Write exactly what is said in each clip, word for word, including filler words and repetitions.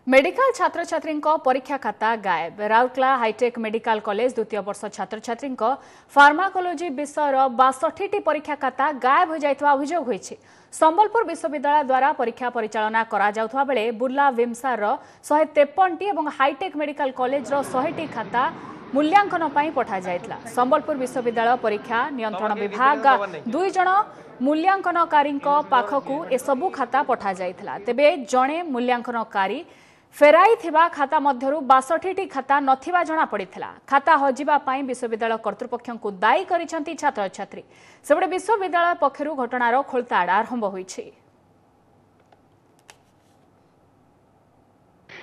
Medical ଛାତ୍ରଛାତ୍ରୀଙ୍କ ପରୀକ୍ଷା ଖାତା ଗାୟବ। ରାଉରକେଲା ହାଇଟେକ୍ ମେଡିକାଲ କଲେଜ ଦ୍ୱିତୀୟ ବର୍ଷ ଛାତ୍ରଛାତ୍ରୀଙ୍କ ଫାର୍ମାକୋଲୋଜି ବିଷୟର ବାଷଠିଟି ପରୀକ୍ଷା ଖାତା ଗାୟବ ହୋଇଯାଇଥିବା ଅଭିଯୋଗ ହୋଇଛି। ସମ୍ବଲପୁର ବିଶ୍ୱବିଦ୍ୟାଳୟ ଦ୍ୱାରା ପରୀକ୍ଷା ପରିଚାଳନା କରାଯାଉଥିବା ବେଳେ ବୁର୍ଲା ଭିମ୍ସାରର ଶହେ ତେପନଟି ଏବଂ ହାଇଟେକ୍ ମେଡିକାଲ କଲେଜର ଶହେଟି ଖାତା ମୂଲ୍ୟାଙ୍କନ ପାଇଁ ପଠାଯାଇଥିଲା। ସମ୍ବଲପୁର ବିଶ୍ୱବିଦ୍ୟାଳୟ ପରୀକ୍ଷା ନିୟନ୍ତ୍ରଣ ବିଭାଗ ଦୁଇ ଜଣ ମୂଲ୍ୟାଙ୍କନକାରୀଙ୍କ ପାଖକୁ ଏସବୁ ଖାତା ପଠାଯାଇଥିଲା। ତେବେ ଜଣେ ମୂଲ୍ୟାଙ୍କନକାରୀ ଫେରାଇଥିବା ଖାତା ମଧ୍ୟରୁ ବାଷଠିଟି ଖାତା ନଥିବା ଜଣାପଡ଼ିଥିଲା। ଖାତା ହଜିବା ପାଇଁ ବିଶ୍ୱବିଦ୍ୟାଳୟ କର୍ତ୍ତୃପକ୍ଷଙ୍କୁ ଦାୟୀ କରିଛନ୍ତି ଛାତ୍ରଛାତ୍ରୀ। ସେପଟେ ବିଶ୍ୱବିଦ୍ୟାଳୟ ପକ୍ଷରୁ ଘଟଣାର ଖୋଳତାଡ଼ ଆରମ୍ଭ ହୋଇଛି।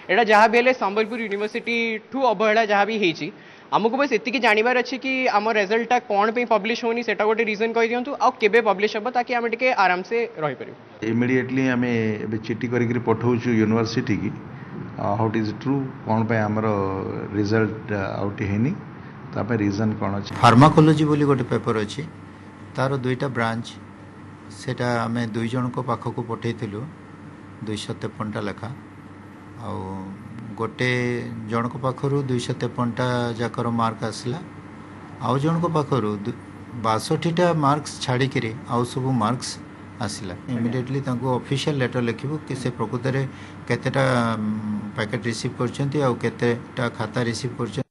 ଏଇଟା ଯାହା ବି ହେଲେ ସମ୍ବଲପୁର ୟୁନିଭର୍ସିଟିଠୁ ଅବହେଳା ଯାହା ବି ହେଇଛି। ଆମକୁ ବାସ୍ ଏତିକି ଜାଣିବାର ଅଛି କି ଆମ ରେଜଲ୍ଟଟା କ'ଣ ପାଇଁ ପବ୍ଲିଶ ହେଉନି, ସେଟା ଗୋଟେ ରିଜନ୍ କହିଦିଅନ୍ତୁ, ଆଉ କେବେ ପବ୍ଲିଶ ହେବ, ତାକି ଆମେ ଟିକେ ଆରାମସେ ରହିପାରିବୁ। ଇମିଡ଼ିଏଟଲି ଆମେ ଏବେ ଚିଠି କରିକିରି ପଠାଉଛୁ ୟୁନିଭର୍ସିଟିକି, ହାଉ it is true, କ'ଣ ପାଇଁ ଆମର ରେଜଲ୍ଟ ଆଉଟ୍ ହେଇନି, ତା ପାଇଁ ରିଜନ୍ କ'ଣ ଅଛି। ଫାର୍ମାକୋଲୋଜି ବୋଲି ଗୋଟେ ପେପର ଅଛି, ତାର ଦୁଇଟା ବ୍ରାଞ୍ଚ, ସେଇଟା ଆମେ ଦୁଇ ଜଣଙ୍କ ପାଖକୁ ପଠାଇଥିଲୁ ଦୁଇଶହ ତେପନଟା ଲେଖା। ଆଉ ଗୋଟେ ଜଣଙ୍କ ପାଖରୁ ଦୁଇଶହ ତେପନଟା ଯାକର ମାର୍କ ଆସିଲା, ଆଉ ଜଣଙ୍କ ପାଖରୁ ବାଷଠିଟା ମାର୍କସ୍ ଛାଡ଼ିକିରି ଆଉ ସବୁ ମାର୍କସ୍ ଆସିଲା। ଇମିଡ଼ିଏଟଲି ତାଙ୍କୁ ଅଫିସିଆଲ ଲେଟର ଲେଖିବୁ କି ସେ ପ୍ରକୃତରେ କେତେଟା ପ୍ୟାକେଟ୍ ରିସିଭ୍ କରିଛନ୍ତି ଆଉ କେତେଟା ଖାତା ରିସିଭ୍ କରିଛନ୍ତି।